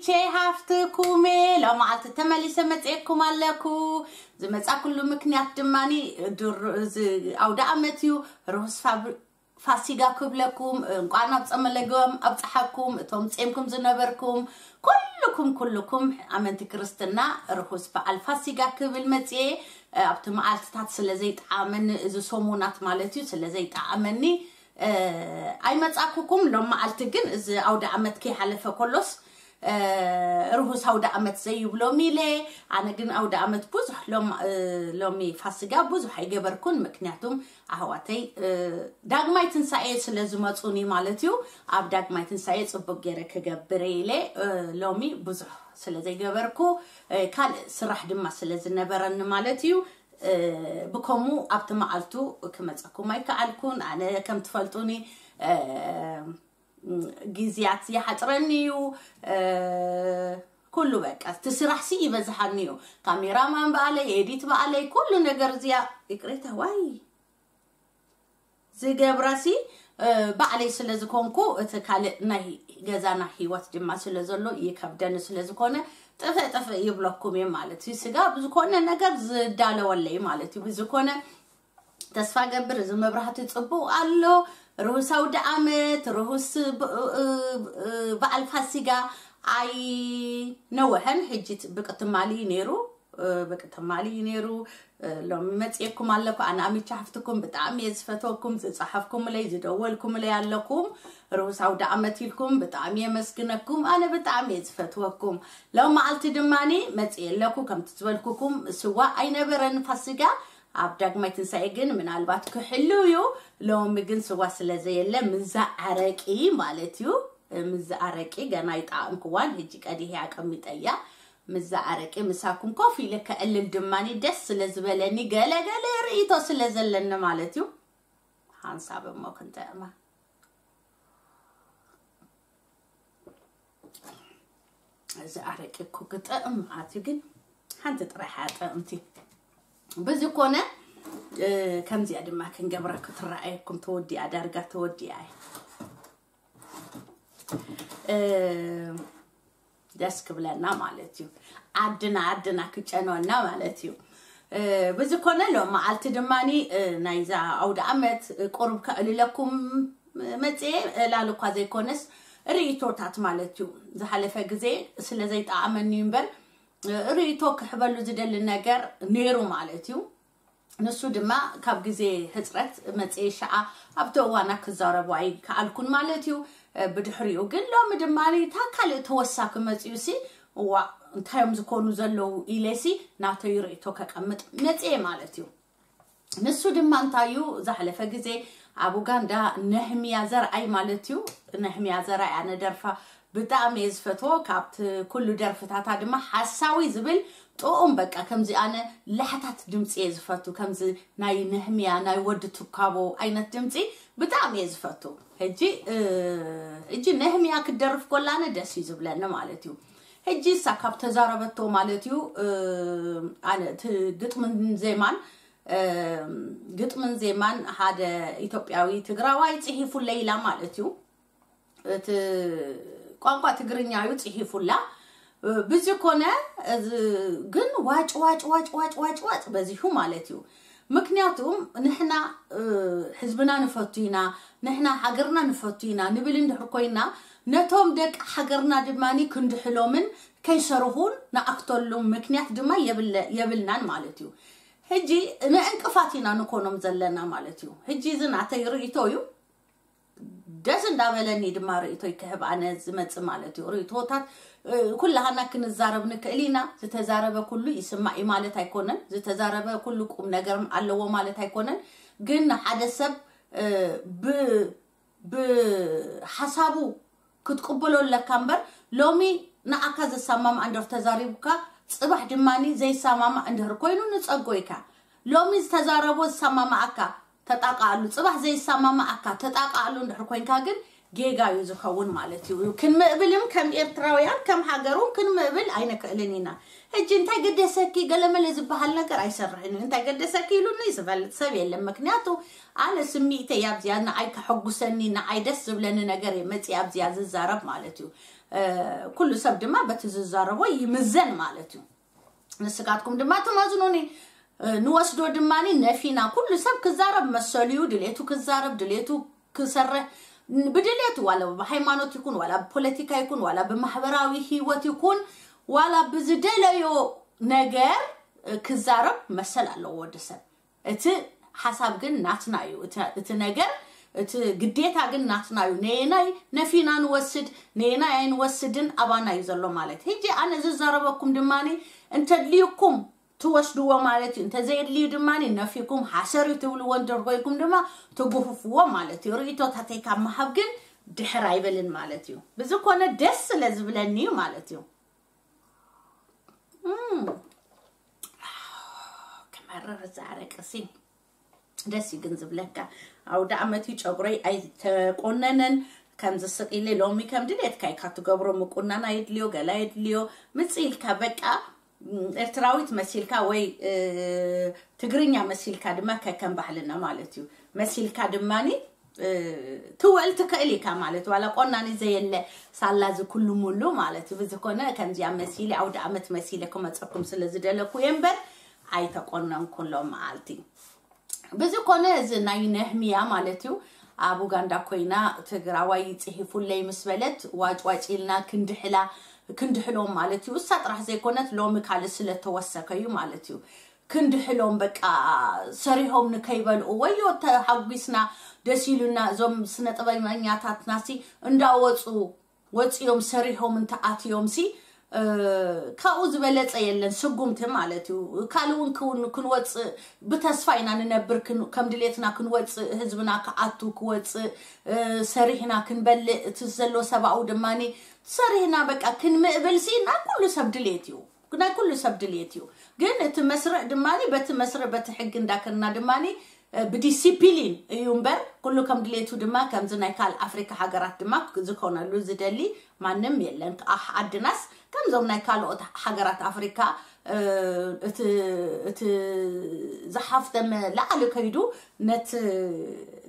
ሸይ ሃፍትኩም ሎመዓልቲ ተመሊሰ መፅኤኩም ኣለኩ። ዝመፃኩሉ ምክንያት ድማኒ ድር- እዚ ኣውደ ኣመት እዩ። ርሁስ ፋብ- ፋሲጋ ክብለኩም፣ እንቋዕ ናብ ጸመለገም ኣብጽሓኩም። እቶም ጼምኩም ዝነበርኩም ኩልኩም ኩልኩም ኣመንቲ ክርስትና ርሁስ በዓል ፋሲጋ ክብል መጽኤ። ኣብቲ መዓልትታት ስለ ዘይጠዓመኒ፣ እዚ ሰሙናት ማለት እዩ፣ ስለ ዘይጠዓመኒ ኣይመጻኩኩም። ሎም መዓልቲ ግን እዚ ኣውደ ኣመት ከይሓለፈ ከሎስ ርሁስ ኣውደ ኣመት ዘይብሎም ኢለ። ኣነ ግን ኣውደ ኣመት ብዙሕ ሎም- ሎሚ ፋሲጋ ብዙሕ ኣይገበርኩን፣ ምክንያቱም ኣህዋተይ ዳግማይ ትንሳኤ ስለ ዝመፁኒ ማለት እዩ። ኣብ ዳግማይ ትንሳኤ ፅቡቅ ገይረ ክገብር ኢለ ሎሚ ብዙሕ ስለ ዘይገበርኩ፣ ካልእ ስራሕ ድማ ስለ ዝነበረኒ ማለት እዩ። ብከሙ ኣብቲ መዓልቱ ክመፀኩም ኣይከኣልኩን። ኣነ ከም ትፈልጡኒ ግዜያት ይሓፅረኒ እዩ። ኩሉ በቃ እቲ ስራሕሲ ይበዝሓኒ እዩ። ካሜራማን በኣለይ፣ ኤዲት በኣለይ፣ ኩሉ ነገር እዚኣ ይቅሬታ ዋይ ዝገብራሲ ባዕለይ ስለ ዝኾንኩ፣ እቲ ካልእ ናይ ገዛና ህይወት ድማ ስለ ዘሎ ይከብደኒ ስለ ዝኾነ፣ ጥፍእ ጥፍእ ይብለኩም እየ ማለት እዩ። ስጋ ብዝኮነ ነገር ዝዳለወለይ ማለት እዩ። ብዝኮነ ተስፋ ገብር እዚ መብራህቲ ጽቡቕ ኣሎ። ርሁስ ኣውደ ኣመት፣ ርሁስ ብ- እ- እ- በዓል ፋሲጋ። ኣይ ነወሐን ሕጂ ት- ብቅ ትማሊ እዩ ነይሩ። ብቅ ትማሊ እዩ ነይሩ። ሎሚ መጽኤኩም ኣለኩ። ኣነ ኣሚቻ ሓፍትኩም ብጣዕሚ እየ ዝፈትወኩም። ዝጸሓፍኩምለይ፣ ዝደወልኩምለይ ኣለኩም። ርሁስ ኣውደ ኣመት ኢልኩም ብጣዕሚ የመስግነኩም። ኣነ ብጣዕሚ እየ ዝፈትወኩም። ሎም መዓልቲ ድማኒ መጽኤ ኣለኩ። ከምቲ ዝበልኩኩም ስዋ ኣይነበረን ፋሲጋ። ኣብ ዳግማይ ትንሳኤ ግን ምናልባት ክሕሉ እዩ። ሎሚ ግን ስዋ ስለ ዘየለ ምዛ ኣረቂ ማለት እዩ። ምዛ ኣረቂ ገና ይጣዕምክዋን ሕጂ ቀዲህ ኣቀሚጠያ። ምዛ ኣረቂ ምሳኩም ኮፍ ኢለ ከዕልል ድማኒ ደስ ስለ ዝበለኒ ገለ ገለ ርእይቶ ስለ ዘለኒ ማለት እዩ። ሓንሳብ እሞ ክንጥዕማ። እዚ ኣረቂ እኮ ክጥዕም ኣትዩ ግን ሓንቲ ጥራሕ እያ ጥዕምቲ። ብዝኮነ ከምዚኣ ድማ ክንገብራ ክትረኣየኩም ተወዲኣ ዳርጋ ተወዲኣ እያ። ደስ ክብለና ማለት እዩ። ዓድና ዓድና ክጨንወና ማለት እዩ። ብዝኮነ ሎም መዓልቲ ድማኒ ናይዛ ኣውደ ኣመት ቁሩብ ከዕልለኩም መፅኤ ዕላል እኳ ዘይኮነስ ርእይቶታት ማለት እዩ። ዝሓለፈ ግዜ ስለ ዘይጠዓመኒ እምበር ርእይቶ ክሕበሉ ዝደሊ ነገር ነይሩ ማለት እዩ። ንሱ ድማ ካብ ግዜ ህፅረት መፅኤ ሸዓ ኣብቲ እዋና ክዛረቡ ኣይከኣልኩን ማለት እዩ። ብድሕሪኡ ግን ሎሚ ድማ እታ ካልእ ተወሳኪ መፅኡ ሲ እዋ እንታይ እዮም ዝኾኑ ዘለዉ ኢለ ሲ ናተይ ርእይቶ ከቀምጥ መፅኤ ማለት እዩ። ንሱ ድማ እንታይ እዩ ዝሓለፈ ግዜ ኣብ ኡጋንዳ ነህምያ ዘርኣይ ማለት እዩ። ነህምያ ዘርኣይ ኣነ ደርፋ ብጣዕሚ እየ ዝፈትዎ። ካብቲ ኩሉ ደርፍታታ ድማ ሓሳዊ ዝብል ጥዑም በቃ ከምዚ ኣነ ላሕታት ድምፂ እየ ዝፈቱ። ከምዚ ናይ ነህምያ ናይ ወዲ ትካቦ ዓይነት ድምፂ ብጣዕሚ እየ ዝፈቱ። ሕጂ ሕጂ ነህምያ ክደርፍ ኮላነ ደስ እዩ ዝብለኒ ማለት እዩ። ሕጂ እሳ ካብ ተዛረበቶ ማለት እዩ ኣነ እቲ ግጥምን ዜማን ግጥምን ዜማን ሓደ ኢትዮጵያዊ ትግራዋይ ፅሒፉለይ ኢላ ማለት እዩ። እቲ ቋንቋ ትግርኛ እዩ ፅሒፉላ። ብዚ ኮነ ግን ዋጭ ዋጭ ዋጭ ዋጭ ዋጭ ዋጭ በዚሑ ማለት እዩ። ምክንያቱም ንሕና ህዝብና ንፈቱ ኢና፣ ንሕና ሃገርና ንፈቱ ኢና ንብል እንድሕር ኮይና ነቶም ደቂ ሃገርና ድማ ክንድሕሎምን ከይሰርሁን ንኣክተሉም ምክንያት ድማ የብልናን ማለት እዩ። ሕጂ ንዕንቅፋት ኢና ንኮኖም ዘለና ማለት እዩ። ሕጂ እዚ ናተይ ርእይቶ እዩ። ደስ እንዳበለኒ ድማ ርእይቶይ ክህብ ኣነ ዝመጽእ ማለት እዩ። ርእይቶታት ኩላሃና ክንዛረብ ንክእል ኢና። ዝተዛረበ ኩሉ ይስማዕ እዩ ማለት ኣይኮነን። ዝተዛረበ ኩሉ ቁም ነገርም ኣለዎ ማለት ኣይኮነን። ግን ንሓደ ሰብ ብ ብሓሳቡ ክትቅበሎ ኣለካ እምበር ሎሚ ንኣካ ዘሳማምኣ እንድር ተዛሪቡካ ጽባሕ ድማኒ ዘይሳማማእ እንድህር ኮይኑ ንጸጎ ኢካ። ሎሚ ዝተዛረቦ ዝሳማማኣካ ተጣቃኣሉ፣ ጽባሕ ዘይሳማማኣካ ተጣቃኣሉ እንድሕር ኮይንካ ግን ጌጋ እዩ ዝኸውን ማለት እዩ። ክንምእብልም ከም ኤርትራውያን ከም ሃገሩን ክንምእብል ኣይንክእልን ኢና። ሕጂ እንታይ ገደሰኪ ገለመለ ዝበሃል ነገር ኣይሰርሕን እዩ። እንታይ ገደሰኪ ኢሉኒ ዝፈልጥ ሰብ የለን። ምክንያቱ ኣነ ስሚዕተይ ኣብዚኣ ንዓይ ከሐጉሰኒ ንዓይ ደስ ዝብለኒ ነገር እየ መፅእ ኣብዚኣ ዝዛረብ ማለት እዩ። ኩሉ ሰብ ድማ በቲ ዝዛረቦ ይምዘን ማለት እዩ። ንስካትኩም ድማ ትመዝኑኒ። ንወስዶ ድማ ነፊና ኩሉ ሰብ ክዛረብ መሰሉ እዩ። ድሌቱ ክዛረብ ድሌቱ ክሰርሕ ብድሌቱ ዋላ ብሃይማኖት ይኩን ዋላ ብፖለቲካ ይኩን ዋላ ብማሕበራዊ ህይወት ይኩን ዋላ ብዝደለዮ ነገር ክዛረብ መሰል ኣለዎ ወዲ ሰብ። እቲ ሓሳብ ግን ናትና እዩ። እቲ ነገር እቲ ግዴታ ግን ናትና እዩ። ነየናይ ነፊና ንወስድ ነየናይ ኣይንወስድን ኣባና እዩ ዘሎ ማለት። ሕጂ ኣነ ዝዛረበኩም ድማ እንተድልዩኩም ትወስድዎ ማለት እዩ። እንተዘየድልዩ ድማ ነፊኩም ሓሰር እዩ ትብልዎ እንድር ኮይንኩም ድማ ትጉፍፍዎ ማለት እዩ። ርእቶታተይ ካብ ምሃብ ግን ድሕር ኣይበልን ማለት እዩ። ብዝኮነ ደስ ስለ ዝብለኒ እዩ ማለት እዩ። ክመርር ዛረቅሲ ደስ እዩ ግን ዝብለካ። ኣውደ ኣመት እዩ ጨጉረይ ኣይተቆነነን። ከምዚ ስቕ ኢለ ሎሚ ከም ድሌትካ ኢካ ትገብሮ ምቁናን ኣይድልዮ ገላ የድልዮ ምጽ ኢልካ በቃ ኤርትራዊት መሲልካ ወይ ትግርኛ መሲልካ ድማ ከከም ባህልና ማለት እዩ መሲልካ ድማኒ ትውዕል ትክእል ኢካ ማለት ዋላ ቆናኒ ዘየለ ሳላ ዝኩሉ ሙሉ ማለት እዩ። ብዝኮነ ከምዚኣ መሲሊ ኣውደ ኣመት መሲለ ክመፀኩም ስለ ዝደለኩ እየ እምበር ኣይተቆነንኩ ሎም መዓልቲ። ብዝኮነ እዚ ናይ ነህምያ ማለት እዩ ኣብ ኡጋንዳ ኮይና ትግራዋይ ይፅሂፉለይ ምስ በለት ዋጭዋጭ ኢልና ክንድሕላ ክንድሕሎም ማለት እዩ። እሳ ጥራሕ ዘይኮነት ሎሚ ካልእ ስለተወሰከ እዩ ማለት እዩ። ክንድሕሎም በቃ ሰሪሆም ንከይበልኡ ወዮ ተሓጒስና ደስ ኢሉና እዞም ስነ ጥበበኛታትና ሲ እንዳወፁ ወፂኦም ሰሪሆም እንተኣትዮም ሲ ካብኡ ዝበለፀ የለን ስጉምቲ ማለት እዩ። ካልእ እውን ክውን ክንወፅእ ብተስፋ ኢና ንነብር ከም ድሌትና ክንወፅእ ህዝብና ክኣቱ ክወፅእ ሰሪሕና ክንበልእ እቲ ዘሎ ሰብኣዊ ድማ ሰሪሕና በቃ ክንምእብል ሲ ናይ ኩሉ ሰብ ድሌት እዩ። ናይ ኩሉ ሰብ ድሌት እዩ። ግን እቲ መስርዕ ድማ በቲ መስርዕ በቲ ሕጊ እንዳከና ድማ ብዲሲፕሊን እዩ እምበር ኩሉ ከም ድሌቱ ድማ ከምዚ ናይ ካልእ ኣፍሪካ ሃገራት ድማ ዝኾነሉ ዝደሊ ማንም የለን። ኣሕ ዓድናስ ከምዞም ናይ ካልኦት ሃገራት ኣፍሪካ እቲ ዝሓፍተመ ላዕሊ ከይዱ ነቲ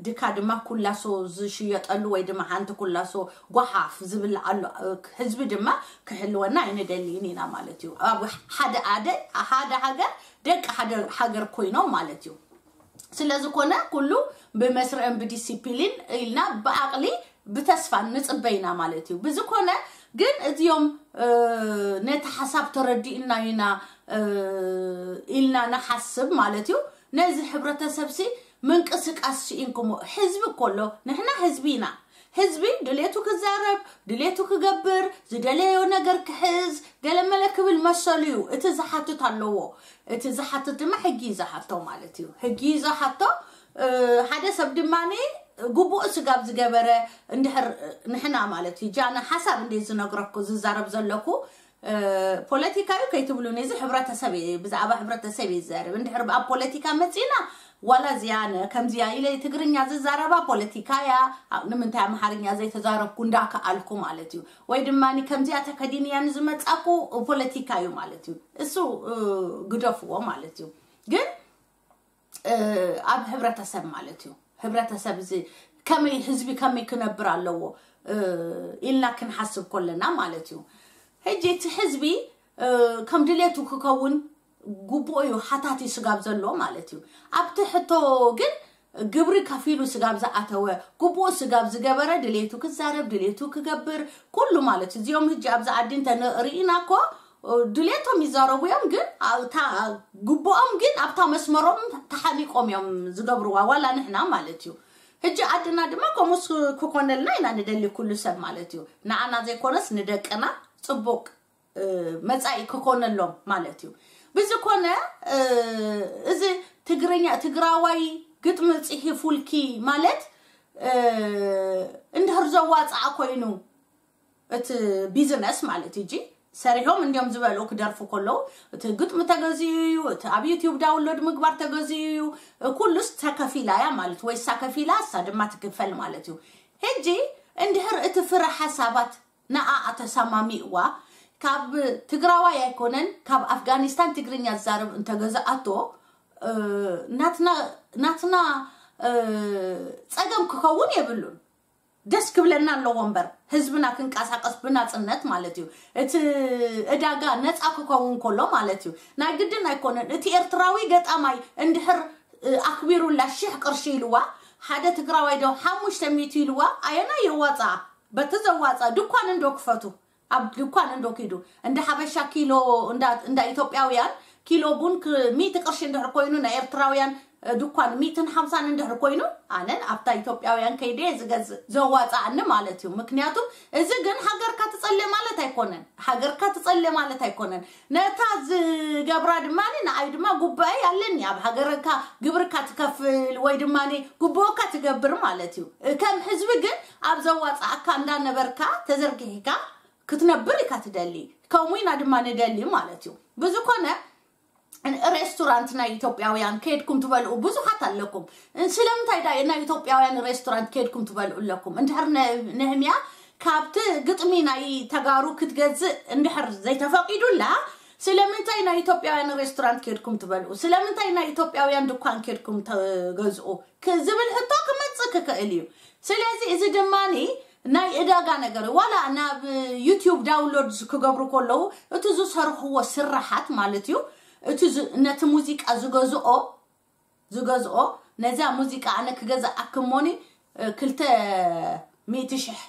ድካ ድማ ኩላሶ ዝሽየጠሉ ወይ ድማ ሓንቲ ኩላሶ ጓሓፍ ዝብልዓሉ ህዝቢ ድማ ክህልወና ኣይንደልይን ኢና ማለት እዩ። ኣብ ሓደ ኣደ ሓደ ሃገር ደቂ ሓደ ሃገር ኮይኖም ማለት እዩ። ስለዝኮነ ኩሉ ብመስርዕን ብዲሲፕሊን ኢልና ብኣቕሊ ብተስፋ ንፅበይና ማለት እዩ። ብዝኮነ ግን እዚኦም ነቲ ሓሳብ ተረዲእና ኢና ኢልና ንሓስብ ማለት እዩ። ነዚ ሕብረተሰብ ሲ ምንቅስቃስ ስኢንኩሞ ህዝቢ እኮ ኣሎ። ንሕና ህዝቢ ኢና። ህዝቢ ድሌቱ ክዛረብ ድሌቱ ክገብር ዝደለዮ ነገር ክሕዝ ገለመለ ክብል መሰሉ እዩ። እቲ ዝሓትት ኣለዎ። እቲ ዝሓትት ድማ ሕጊ እዩ ዝሓቶ ማለት እዩ። ሕጊ እዩ ዝሓቶ። ሓደ ሰብ ድማ ግቡእ ስጋብ ዝገበረ እንድሕር ንሕና ማለት እዩ ጃነ ሓሳብ እንደ ዝነግረኩ ዝዛረብ ዘለኩ ፖለቲካ እዩ ከይትብሉኒ እዚ ሕብረተሰብ እየ ብዛዕባ ሕብረተሰብ እየ ዝዛረብ። እንድሕር ኣብ ፖለቲካ መፂና ዋላ እዚኣ ነ ከምዚኣ ኢለ ትግርኛ ዝዛረባ ፖለቲካ እያ። ንምንታይ ኣምሓርኛ ዘይተዛረብኩ እንዳከኣልኩ ማለት እዩ። ወይ ድማ ከምዚኣ ተከዲንያ ንዝመፃኩ ፖለቲካ እዩ ማለት እዩ። እሱ ግደፍዎ ማለት እዩ። ግን ኣብ ሕብረተሰብ ማለት እዩ። ህብረተሰብ እዚ ከመይ ህዝቢ ከመይ ክነብር ኣለዎ ኢልና ክንሓስብ ከለና ማለት እዩ። ሕጂ እቲ ህዝቢ ከም ድሌቱ ክከውን ግቡእ እዩ። ሓታቲ ስጋብ ዘሎ ማለት እዩ። ኣብቲ ሕቶ ግን ግብሪ ከፊሉ ስጋብ ዝኣተወ ግቡእ ስጋብ ዝገበረ ድሌቱ ክዛረብ ድሌቱ ክገብር ኩሉ ማለት እዩ። እዚኦም ህጂ ኣብዚ ዓዲ እንተ ርኢና እኮ ድሌቶም ይዛረቡ እዮም ግን ኣብታ ግቡኦም ግን ኣብታ መስመሮም ተሓኒቆም እዮም ዝገብርዋ ዋላ ንሕና ማለት እዩ። ህጂ ዓድና ድማ ከምኡስ ክኮነልና ኢና ንደሊ ኩሉ ሰብ ማለት እዩ። ንዓና ዘይኮነስ ንደቅና ጽቡቅ መጻኢ ክኮነሎም ማለት እዩ። ብዝኮነ እዚ ትግርኛ ትግራዋይ ግጥሚ ጽሒፉልኪ ማለት እንድሕር ዘዋፅኣ ኮይኑ እቲ ቢዝነስ ማለት እጂ ሰሪሖም እንዲዮም ዝበልኡ ክደርፉ ከለዉ እቲ ግጥሚ ተገዚኡ እዩ። እቲ ኣብ ዩቲዩብ ዳውንሎድ ምግባር ተገዚኡ እዩ። ኩሉስ ተከፊላ እያ ማለት ወይ እሳ ከፊላ እሳ ድማ ትክፈል ማለት እዩ። ሕጂ እንድሕር እቲ ፍረ ሓሳባት ንኣ ኣተሰማሚእዋ፣ ካብ ትግራዋይ ኣይኮነን፣ ካብ ኣፍጋኒስታን ትግርኛ ዝዛረብ እንተገዛኣቶ፣ ናትና ናትና ጸገም ክኸውን የብሉን። ደስ ክብለና ኣለዎ እምበር፣ ህዝብና ክንቀሳቀስ ብናጽነት ማለት እዩ። እቲ እዳጋ ነጻ ክኸውን ከሎ ማለት እዩ። ናይ ግድን ኣይኮነን። እቲ ኤርትራዊ ገጣማይ እንድሕር ኣክቢሩላ ሽሕ ቅርሺ ኢልዋ፣ ሓደ ትግራዋይ ዶ ሓሙሽተ ሚእቲ ኢልዋ፣ ኣየና የዋጻ? በቲ ዘዋጻ ድኳን እንዶ ክፈቱ፣ ኣብ ድኳን እንዶ ኪዱ፣ እንደ ሓበሻ ኪሎ፣ እንዳ ኢትዮጵያውያን ኪሎ ቡን ሚእቲ ቅርሺ እንድሕር ኮይኑ፣ ናይ ኤርትራውያን ድኳን ሚእትን ሓምሳን እንድሕር ኮይኑ፣ ኣነን ኣብታ ኢትዮጵያውያን ከይደ ዝገዝእ ዘዋጻኣኒ ማለት እዩ። ምክንያቱ እዚ ግን ሃገርካ ትጸለ ማለት ኣይኮነን። ሃገርካ ትጸለ ማለት ኣይኮነን። ነታ ዝገብራ ድማ ንኣይ ድማ ጉባኤ ኣለኒ። ኣብ ሃገርካ ግብርካ ትከፍል ወይ ድማ ጉቦካ ትገብር ማለት እዩ። ከም ህዝቢ ግን ኣብ ዘዋጻኣካ እንዳነበርካ ተዘርጊሕካ ክትነብር ኢካ ትደሊ። ከምኡ ኢና ድማ ንደሊ ማለት እዩ። ብዝኮነ ሬስቶራንት ናይ ኢትዮጵያውያን ከይድኩም ትበልዑ ብዙሓት ኣለኩም። ስለምንታይ ዳ ናይ ኢትዮጵያውያን ሬስቶራንት ከይድኩም ትበልዑ ኣለኩም? እንድሕር ነህምያ ካብቲ ግጥሚ ናይ ተጋሩ ክትገዝእ እንድሕር ዘይተፈቂዱላ፣ ስለምንታይ ናይ ኢትዮጵያውያን ሬስቶራንት ከይድኩም ትበልዑ? ስለምንታይ ናይ ኢትዮጵያውያን ድኳን ከይድኩም ትገዝኡ? ዝብል ሕቶ ክመጽእ ክክእል እዩ። ስለዚ እዚ ድማኒ ናይ እዳጋ ነገር ዋላ ናብ ዩቲዩብ ዳውንሎድ ክገብሩ ከለዉ እቲ ዝሰርኽዎ ስራሓት ማለት እዩ። እቲ ነቲ ሙዚቃ ዝገዝኦ ዝገዝኦ ነዚያ ሙዚቃ ኣነ ክገዝኣክሞኒ ክልተ ሚእቲ ሽሕ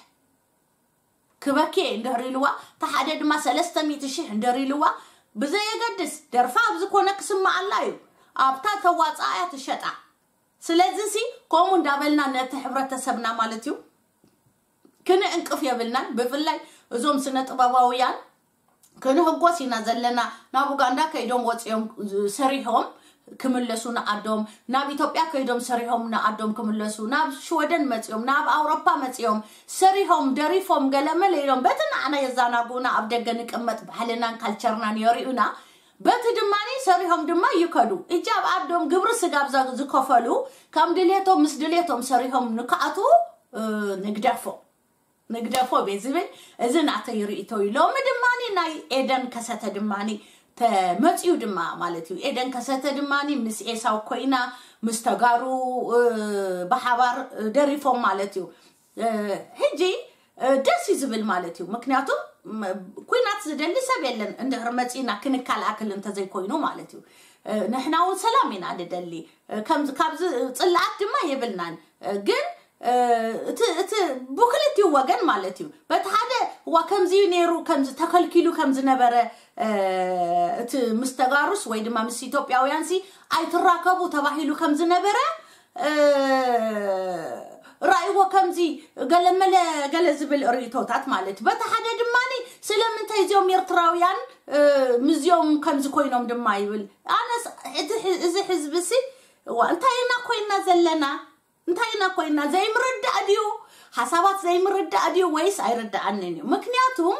ክበኪ እንድሕር ኢልዋ፣ ተሓደ ድማ ሰለስተ ሚእቲ ሽሕ እንድሕር ኢልዋ፣ ብዘየገድስ ደርፋ ኣብ ዝኾነ ክስምዓላ እዩ። ኣብታ ተዋፅኣያ ትሸጣ። ስለዚ ሲ ከምኡ እንዳበልና ነቲ ሕብረተሰብና ማለት እዩ ክንእንቅፍ የብልናን። ብፍላይ እዞም ስነ ጥበባውያን ክንህጎስ ኢና ዘለና። ናብ ኡጋንዳ ከይዶም ወፂኦም ሰሪሖም ክምለሱ ንዓዶም፣ ናብ ኢትዮጵያ ከይዶም ሰሪሖም ንዓዶም ክምለሱ፣ ናብ ሽወደን መፂኦም፣ ናብ ኣውሮፓ መፂኦም ሰሪሖም ደሪፎም ገለመለ ኢሎም በቲ ንዓና የዛናጉና ኣብ ደገ ንቅመጥ ባህልናን ካልቸርናን የሪኡና። በቲ ድማ ሰሪሖም ድማ ይከዱ። እጃ ኣብ ዓዶም ግብሪ ስጋብ ዝከፈሉ ከም ድሌቶም ምስ ድሌቶም ሰሪሖም ንክኣትዉ ንግደፎ ንግደፎ ቤት ዝብል እዚ ናተይ ርእይቶ እዩ። ሎሚ ድማ ናይ ኤደን ከሰተ ድማ ተመፅዩ ድማ ማለት እዩ። ኤደን ከሰተ ድማ ምስ ኤሳው ኮይና ምስ ተጋሩ ብሓባር ደሪፎም ማለት እዩ። ሕጂ ደስ እዩ ዝብል ማለት እዩ። ምክንያቱ ኩናት ዝደሊ ሰብ የለን። እንድሕር መፂና ክንከላከል እንተዘይኮይኑ ማለት እዩ። ንሕና እውን ሰላም ኢና ንደሊ። ካብዚ ፅላኣት ድማ የብልናን። ግን እቲ ብክልቲኡ ወገን ማለት እዩ። በቲ ሓደ እዋ ከምዚ እዩ ነይሩ፣ ከምዚ ተከልኪሉ ከም ዝነበረ እቲ ምስ ተጋሩስ ወይ ድማ ምስ ኢትዮጵያውያን ሲ ኣይትራከቡ ተባሂሉ ከም ዝነበረ ራእይዎ ከምዚ ገለመለ ገለ ዝብል ርእይቶታት ማለት እዩ። በቲ ሓደ ድማ ስለምንታይ እዚኦም ኤርትራውያን ምዚኦም ከምዚ ኮይኖም ድማ ይብል። ኣነስ እዚ ሕዝቢ ሲ እዋ እንታይ ኢና ኮይና ዘለና? እንታይ ኢና ኮይና? ዘይምርዳእ ድዩ? ሓሳባት ዘይምርዳእ ድዩ ወይስ ኣይርዳኣንን እዩ? ምክንያቱም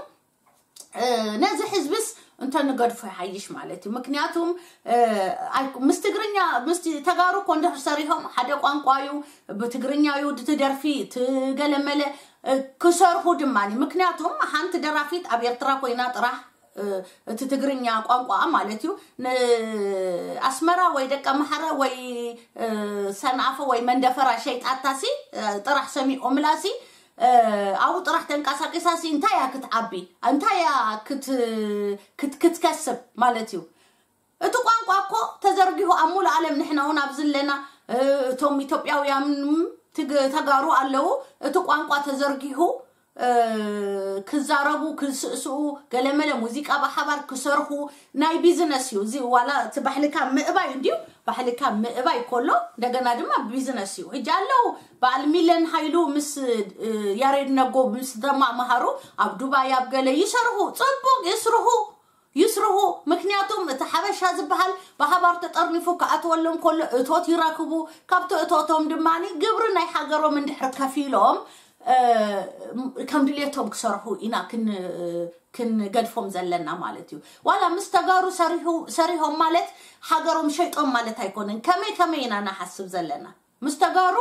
ነዚ ሕዝብስ እንተንገድፎ ይሓይሽ ማለት እዩ። ምክንያቱም ምስ ትግርኛ ምስ ተጋሩ እኮ እንድሕር ሰሪሖም ሓደ ቋንቋ እዩ፣ ብትግርኛ እዩ እቲ ደርፊ ትገለመለ ክሰርሑ ድማ። ምክንያቱም ሓንቲ ደራፊት ኣብ ኤርትራ ኮይና ጥራሕ እቲ ትግርኛ ቋንቋ ማለት እዩ ንኣስመራ ወይ ደቀ ማሕረ ወይ ሰንኣፈ ወይ መንደፈራ ሸይጣታሲ ጥራሕ ሰሚዖምላ ሲ ኣብኡ ጥራሕ ተንቀሳቂሳ ሲ እንታይ እያ ክትዓቢ? እንታይ እያ ክትከስብ ማለት እዩ? እቲ ቋንቋ እኮ ተዘርጊሑ ኣብ ሙሉእ ዓለም ንሕና እውን ኣብዚ ኣለና። እቶም ኢትዮጵያውያን ተጋሩ ኣለዉ። እቲ ቋንቋ ተዘርጊሑ ክዛረቡ፣ ክስእስኡ፣ ገለመለ ሙዚቃ ብሓባር ክሰርሑ ናይ ቢዝነስ እዩ። እዚ ዋላ እቲ ባሕልካ ምእባይ እንድዩ፣ ባሕልካ ምእባይ ከሎ እንደገና ድማ ቢዝነስ እዩ። ሕጂ ኣለዉ በዓል ሚለን ሃይሉ ምስ ያሬድ ነጎ ምስ ተማምሃሩ ኣብ ዱባይ ኣብ ገለ ይሰርሑ፣ ጽቡቅ ይስርሑ። ይስርሑ። ምክንያቱም እቲ ሓበሻ ዝበሃል ብሓባር ተጠርኒፉ ክኣትወሎም ከሎ እቶት ይረክቡ። ካብቲ እቶቶም ድማ ግብሪ ናይ ሃገሮም እንድሕር ከፊሎም ከም ድሌቶም ክሰርሑ ኢና ክንገድፎም ዘለና ማለት እዩ። ዋላ ምስ ተጋሩ ሰሪሖም ማለት ሃገሮም ሸይጦም ማለት ኣይኮነን። ከመይ ከመይ ኢና ንሓስብ ዘለና? ምስ ተጋሩ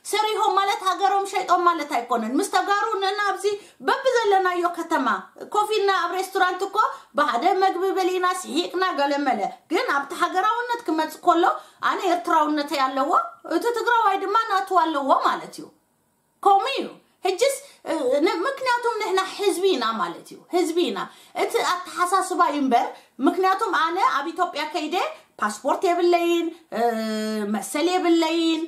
ሰሪሖም ማለት ሃገሮም ሸይጦም ማለት ኣይኮነን። ምስ ተጋሩ ንና ኣብዚ በብዘለናዮ ከተማ ኮፍ ኢልና ኣብ ሬስቶራንት እኮ ብሓደ መግቢ በሊና ስሒቕና ገለመለ። ግን ኣብቲ ሃገራውነት ክመጽእ ከሎ ኣነ ኤርትራውነተይ ኣለዎ፣ እቲ ትግራዋይ ድማ ናቱ ኣለዎ ማለት እዩ። ከምኡ እዩ። ሕጅስ ምክንያቱም ንሕና ህዝቢ ኢና ማለት እዩ። ህዝቢ ኢና። እቲ ኣተሓሳስባ እዩ እምበር፣ ምክንያቱም ኣነ ኣብ ኢትዮጵያ ከይደ ፓስፖርት የብለይን፣ መሰል የብለይን፣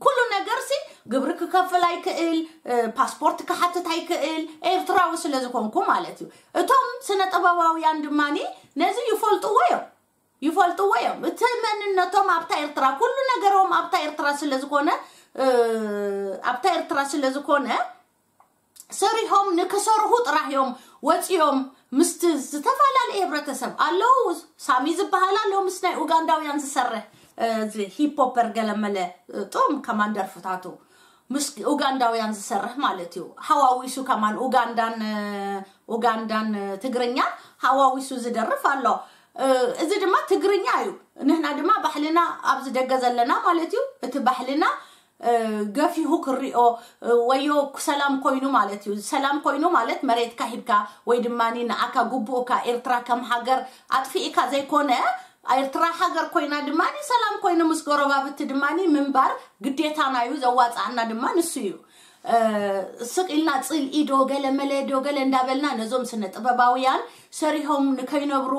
ኩሉ ነገር ሲ ግብሪ ክከፍል ኣይክእል፣ ፓስፖርት ክሓትት ኣይክእል ኤርትራዊ ስለ ዝኾንኩ ማለት እዩ። እቶም ስነ ጥበባውያን ድማኒ ነዚ ይፈልጥዎ እዮም። ይፈልጥዎ እዮም። እቲ መንነቶም ኣብታ ኤርትራ፣ ኩሉ ነገሮም ኣብታ ኤርትራ ስለ ዝኾነ፣ ኣብታ ኤርትራ ስለ ዝኾነ ሰሪሖም ንክሰርሑ ጥራሕ እዮም ወፂኦም። ምስቲ ዝተፈላለየ ህብረተሰብ ኣለዉ። ሳሚ ዝበሃል ኣሎ ምስ ናይ ኡጋንዳውያን ዝሰርሕ፣ እዚ ሂፖፐር ገለመለ፣ ጡም ከማን ደርፍታቱ ምስ ኡጋንዳውያን ዝሰርሕ ማለት እዩ። ሓዋዊሱ ከማን ኡጋንዳን ኡጋንዳን ትግርኛ ሓዋዊሱ ዝደርፍ ኣሎ። እዚ ድማ ትግርኛ እዩ። ንሕና ድማ ባህልና ኣብዚ ደገ ዘለና ማለት እዩ። እቲ ባህልና ገፊሁ ክሪኦ፣ ወዮ ሰላም ኮይኑ ማለት እዩ። ሰላም ኮይኑ ማለት መሬትካ ሂብካ ወይ ድማ ንዓካ ግቡእካ ኤርትራ ከም ሃገር ኣጥፊእካ ዘይኮነ፣ ኤርትራ ሃገር ኮይና ድማ ሰላም ኮይኑ ምስ ጎረባብቲ ድማ ምንባር ግዴታና እዩ። ዘዋፅኣና ድማ ንሱ እዩ። ስቕ ኢልና ፅልኢ ዶ ገለ መለ ዶ ገለ እንዳበልና ነዞም ስነ ጥበባውያን ሰሪሖም ንከይነብሩ፣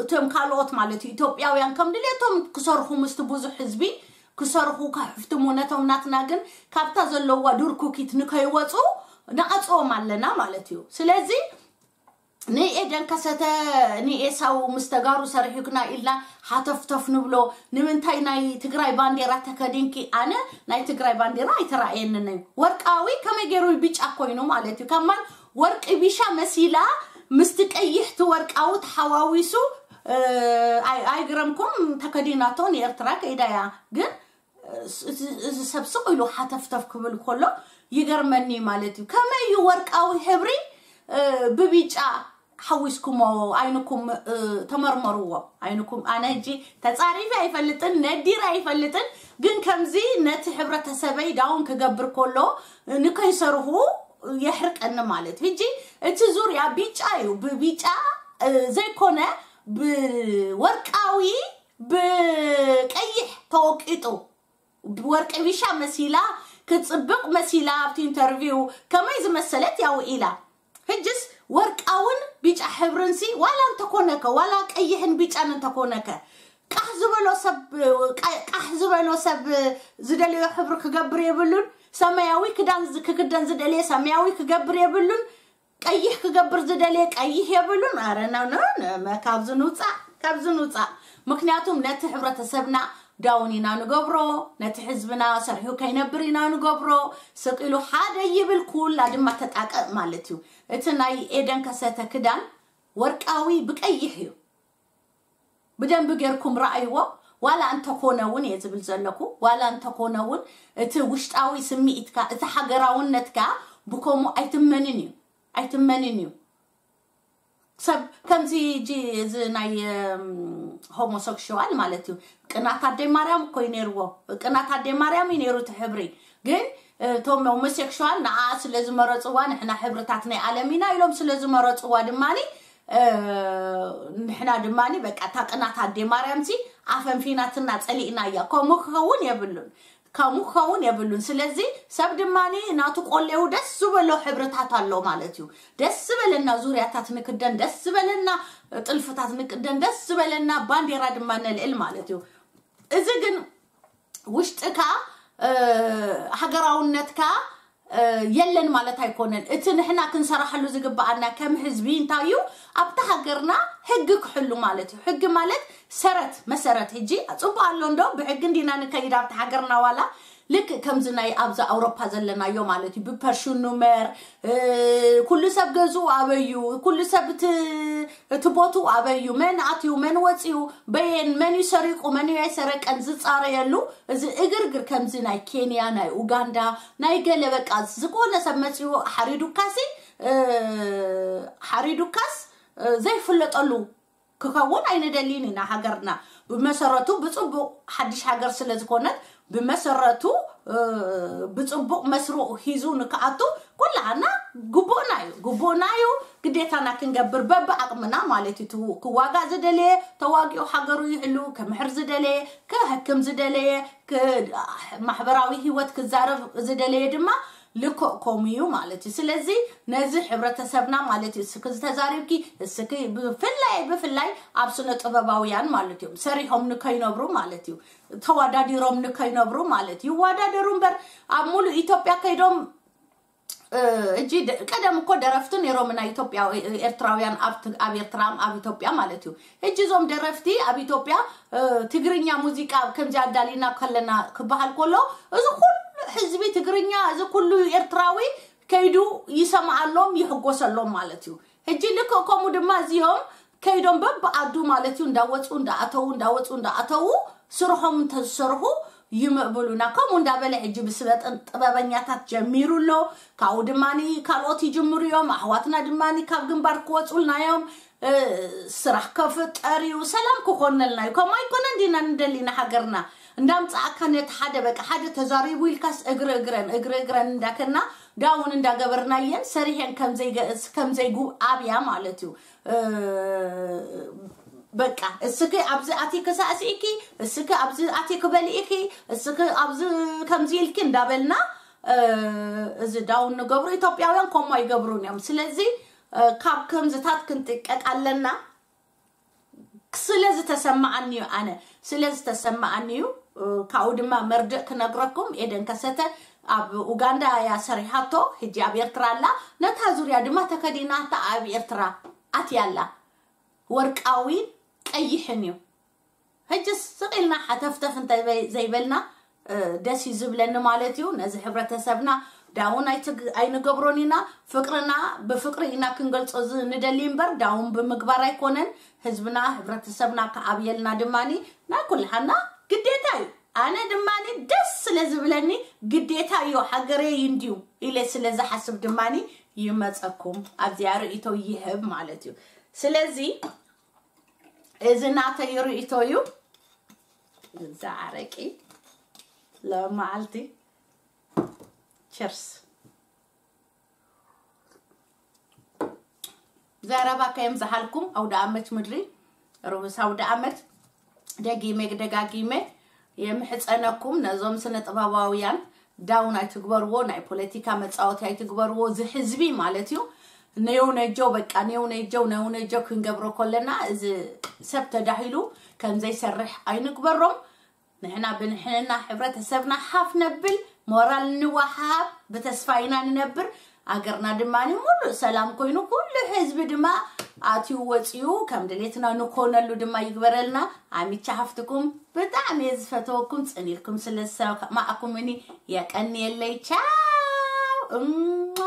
እቶም ካልኦት ማለት እዩ ኢትዮጵያውያን ከም ድሌቶም ክሰርሑ ምስቲ ብዙሕ ህዝቢ ክሰርሑ ከሕፍትሙ፣ ነቶም ናትና ግን ካብታ ዘለዋ ዱር ኩኪት ንከይወፁ ንዓፅዎም ኣለና ማለት እዩ። ስለዚ ንኤደን ከሰተ ንኤሳው ምስ ተጋሩ ሰሪሑክና ኢልና ሓተፍተፍ ንብሎ። ንምንታይ ናይ ትግራይ ባንዴራ ተከዲንኪ? ኣነ ናይ ትግራይ ባንዴራ ኣይተራእየንን እዩ። ወርቃዊ ከመይ ገይሩ ብጫ ኮይኑ ማለት እዩ? ከማን ወርቂ ቢሻ መሲላ ምስቲ ቀይሕቲ ወርቃዊ ተሓዋዊሱ። ኣይግረምኩም፣ ተከዲናቶ ንኤርትራ ከይዳ እያ። ግን እዚ ሰብ ስቕ ኢሉ ሓተፍተፍ ክብል ከሎ ይገርመኒ ማለት እዩ። ከመይ እዩ ወርቃዊ ሕብሪ ብቢጫ ሓዊስኩሞ? ዓይንኩም ተመርመርዎ። ዓይንኩም፣ ኣነ ሕጂ ተጻሪፊ ኣይፈልጥን፣ ነዲር ኣይፈልጥን፣ ግን ከምዚ ነቲ ሕብረተሰበይ ዳውን ክገብር ከሎ ንከይሰርሁ የሕርቀኒ ማለት እዩ። ሕጂ እቲ ዙርያ ቢጫ እዩ። ብቢጫ ዘይኮነ ብወርቃዊ ብቀይሕ ተወቂጡ፣ ወርቂ ቢሻ መሲላ፣ ክጽብቕ መሲላ ኣብቲ ኢንተርቪው ከመይ ዝመሰለት ያው ኢላ። ሕጅስ ወርቃውን ቢጫ ሕብርንሲ ዋላ እንተኮነከ፣ ዋላ ቀይሕን ቢጫን እንተኮነከ፣ ቃሕ ዝበሎ ሰብ፣ ቃ-፣ ቃሕ ዝበሎ ሰብ ዝደለዮ ሕብሪ ክገብር የብሉን። ሰማያዊ ክዳን ዝ-፣ ክክደን ዝደለየ ሰማያዊ ክገብር የብሉን። ቀይሕ ክገብር ዝደለየ ቀይሕ የብሉን። ኣረ፣ ኖ፣ ኖ፣ ኖ፣ መ-፣ ካብዚ ንውፃእ፣ ካብዚ ንውፃእ። ምክንያቱም ነቲ ሕብረተሰብና ዳውን ኢና ንገብሮ፣ ነቲ ህዝብና ሰርሑ ከይነብር ኢና ንገብሮ። ስቕ ኢሉ ሓደ ይብል፣ ኩላ ድማ ተጣቀእ ማለት እዩ። እቲ ናይ ኤደን ከሰተ ክዳን ወርቃዊ ብቀይሕ እዩ። ብደንቢ ጌርኩም ረኣይዎ። ዋላ እንተኮነ እውን እየ ዝብል ዘለኩ፣ ዋላ እንተኮነ እውን እቲ ውሽጣዊ ስምዒትካ፣ እቲ ሃገራውነትካ ብከምኡ ኣይትመንን እዩ፣ ኣይትመንን እዩ። ሰብ ከምዚ፣ እዚ፣ እዚ ናይ፣ እም፣ ሆሞሴክሹዋል ማለት እዩ። ቅናት ኣደይ ማርያም እኮ እዩ ነይርዎ። ቅናት ኣደይ ማርያም እዩ ነይሩ እቲ ሕብሪ። ግን እቶም ሆሞሴክሹዋል ንዓ ስለ ዝመረፅዋ፣ ንሕና ሕብርታት ናይ ዓለም ኢና ኢሎም ስለ ዝመረፅዋ ድማኒ፣ እ፣ ንሕና ድማኒ በቃ እታ ቅናት ኣደይ ማርያምሲ ኣፈንፊናትና ፀሊእና እያ። ከምኡ ክኸውን የብሉን። ከምኡ ክኸውን የብሉን። ስለዚ ሰብ ድማኒ ናቱ ቆሌው ደስ ዝበሎ ሕብርታት ኣሎ ማለት እዩ። ደስ ዝበለና ዙርያታት ንክደን፣ ደስ ዝበለና ጥልፍታት ንክደን፣ ደስ ዝበለና ባንዴራ ድማ ነልዕል ማለት እዩ። እዚ ግን ውሽጥካ፣ እ፣ ሃገራውነትካ፣ እ፣ የለን ማለት ኣይኮነን። እቲ ንሕና ክንሰራሕሉ ዝግበኣና ከም ህዝቢ እንታይ እዩ? ኣብቲ ሃገርና ሕጊ ክሕሉ ማለት እዩ። ሕጊ ማለት ሰረት፣ መሰረት። ሕጂ ጽቡቕ ኣሎ እንዶ ብሕጊ እንዲና ንከይድ ኣብቲ ሃገርና ዋላ ልክእ ከምዚ ናይ ኣብዚ ኣውሮፓ ዘለናዮ ማለት እዩ። ብፐርሹኑመር፣ እ፣ ኩሉ ሰብ ገዝኡ ኣበዩ፣ ኩሉ ሰብ እቲ፣ እቲ ቦትኡ ኣበዩ፣ መን ኣትዩ፣ መን ወፅዩ፣ በየን፣ መን እዩ ሰሪቁ፣ መን እዩ ኣይሰረቀን ዝፃረየሉ፣ እዚ እግርግር ከምዚ ናይ ኬንያ፣ ናይ ኡጋንዳ፣ ናይ ገለ በቃ ዝኾነ ሰብ መፅዩ ሓሪዱካሲ፣ እ፣ ሓሪዱካስ፣ እ፣ ዘይፍለጠሉ ክኸውን ኣይንደልን ኢና። ሃገርና ብመሰረቱ ብጽቡቕ ሓድሽ ሃገር ስለ ዝኾነት ብመሰረቱ ብፅቡቕ መስርኡ ሒዙ ንክኣቱ ኩላና ግቡእና እዩ ግቡእና እዩ ግዴታና ክንገብር በብኣቕምና ማለት እዩ። ክዋጋእ ዝደለየ ተዋጊኡ ሃገሩ ይሕሉ፣ ክምሕር ዝደለየ፣ ክሕክም ዝደለየ፣ ማሕበራዊ ህይወት ክዛረብ ዝደለየ ድማ ልክእ ከምኡ እዩ ማለት እዩ። ስለዚ ነዚ ሕብረተሰብና ማለት እዩ እስኪ ዝተዛሪብኪ እስኪ ብፍላይ ብፍላይ ኣብ ስነ ጥበባውያን ማለት እዮም ሰሪሖም ንከይነብሩ ማለት እዩ ተወዳዲሮም ንከይነብሩ ማለት እዩ። ይወዳደሩ እምበር ኣብ ሙሉእ ኢትዮጵያ ከይዶም እጂ ቀደም እኮ ደረፍቲ ነይሮም ናይ ኢትዮጵያ ኤርትራውያን ኣብ ኤርትራ ኣብ ኢትዮጵያ ማለት እዩ። ሕጂ እዞም ደረፍቲ ኣብ ኢትዮጵያ ትግርኛ ሙዚቃ ከምዚ ኣዳሊና ከለና ክበሃል ከሎ እዚ ኩሉ ህዝቢ ትግርኛ እዚ ኩሉ ኤርትራዊ ከይዱ ይሰምዓሎም ይሕጎሰሎም ማለት እዩ። ሕጂ ልክእ ከምኡ ድማ እዚኦም ከይዶም በብኣዱ ማለት እዩ እንዳወፁ እንዳኣተዉ እንዳወፁ እንዳኣተዉ ስርሖም እንተዝሰርሑ ይምእብሉና። ከምኡ እንዳበለ ሕጂ ብስበጥን ጥበበኛታት ጀሚሩ ኣሎ። ካብኡ ድማ ካልኦት ይጅምሩ እዮም። ኣሕዋትና ድማ ካብ ግንባር ክወፁልና እዮም። ስራሕ ከፍጠር እዩ፣ ሰላም ክኾነልና እዩ። ከምኡ ኣይኮነ እንዲና ንደሊና ሃገርና እንዳምፃእካ ነቲ ሓደ በቃ ሓደ ተዛሪቡ ኢልካስ እግሪ እግረን እግሪ እግረን እንዳከና ዳውን እንዳገበርናየን ሰሪሐን ከምዘይጉ ኣብያ ማለት እዩ። በቃ እስኪ ኣብዚ ኣቲ ክሳእሲእኪ እስኪ ኣብዚ ኣቲ ክበልኢኪ እስኪ ኣብዚ ከምዚ ኢልኪ እንዳበልና እዚ ዳውን ንገብሩ ኢትዮጵያውያን ከምኡ ኣይገብሩን እዮም። ስለዚ ካብ ከምዝታት ክንጥቀቅ ኣለና። ስለ ዝተሰማዓኒ እዩ ኣነ ስለ ዝተሰማዓኒ እዩ። ካብኡ ድማ መርድእ ክነግረኩም ኤደን ከሰተ ኣብ ኡጋንዳ እያ ሰሪሓቶ። ሕጂ ኣብ ኤርትራ ኣላ። ነታ ዙርያ ድማ ተከዲናታ ኣብ ኤርትራ ኣትያ ኣላ። ወርቃዊ ቀይሕን እዩ። ሕጂ ስቕ ኢልና ሓተፍተፍ እንተ ዘይበልና ደስ እዩ ዝብለኒ ማለት እዩ። ነዚ ሕብረተሰብና ዳውን ኣይንገብሮን ኢና። ፍቅርና ብፍቅሪ ኢና ክንገልፆ ንደሊ እምበር ዳውን ብምግባር ኣይኮነን። ህዝብና ሕብረተሰብና ክዓብየልና ድማ ናይ ኩልሃና ግዴታ እዩ። ኣነ ድማ ደስ ስለ ዝብለኒ ግዴታ እዩ ሃገረይ እንድዩ ኢለ ስለ ዝሓስብ ድማ ይመፀኩም ኣብዚኣ ርእቶ ይህብ ማለት እዩ። ስለዚ እዚ ናተይ ርእቶ እዩ። እዛ ኣረቂ ለመዓልቲ ቸርስ ዘረባ ከየም ዝሃልኩም ኣውደ ኣመት ምድሪ ርሁስ ኣውደ ኣመት። ደጊመ ደጋጊመ የምሕፀነኩም ነዞም ስነ ጥበባውያን ዳውን ኣይትግበርዎ፣ ናይ ፖለቲካ መፃወቲ ኣይትግበርዎ። እዚ ህዝቢ ማለት እዩ። ነየው ነጀው በቃ ነየው ነጀው ነየው ነጀው ክንገብሮ ከለና እዚ ሰብ ተዳሂሉ ከምዘይሰርሕ ኣይንግበሮም። ንሕና ብንሕንና ሕብረተሰብና ሓፍ ነብል ሞራል ንወሃብ ብተስፋ ኢና ንነብር። ኣገርና ድማ ሙሉእ ሰላም ኮይኑ ኩሉ ህዝቢ ድማ ኣትዩ ወፅዩ ከም ድሌትና ንኮነሉ ድማ ይግበረልና። ኣሚቻ ሃፍትኩም ብጣዕሚ እየ ዝፈተወኩም ፅኒልኩም ስለዝሰማእኩምኒ የቀንየለይ። ቻው እማ